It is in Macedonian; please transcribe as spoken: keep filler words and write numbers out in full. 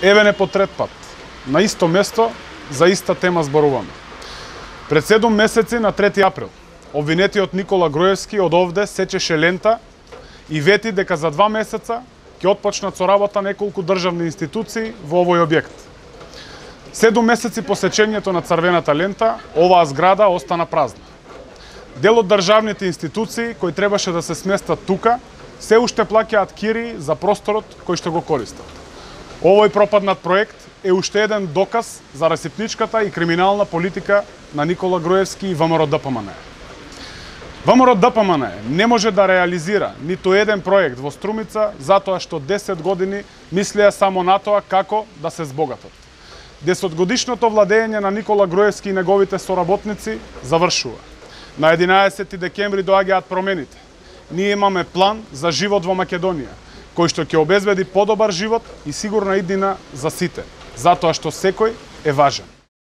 Еве не по трет пат, на исто место, за иста тема зборуваме. Пред седум месеци на трети април, обвинетиот Никола Груевски од овде сечеше лента и вети дека за два месеца ќе отпочнат со работа неколку државни институции во овој објект. Седум месеци по сечењето на црвената лента, оваа зграда остана празна. Дел од државните институции кои требаше да се сместат тука, се уште плаќаат кири за просторот кој што го користат. Овој пропаднат проект е уште еден доказ за расипничката и криминална политика на Никола Груевски и ВМРО-ДПМН. ВМРО-ДПМН не може да реализира ниту еден проект во Струмица затоа што десет години мислеа само на тоа како да се збогатат. Десетгодишното владење на Никола Груевски и неговите соработници завршува. На единаесети декември доаѓаат промените. Ние имаме план за живот во Македонија, кој што ќе обезбеди подобар живот и сигурна иднина за сите, затоа што секој е важен.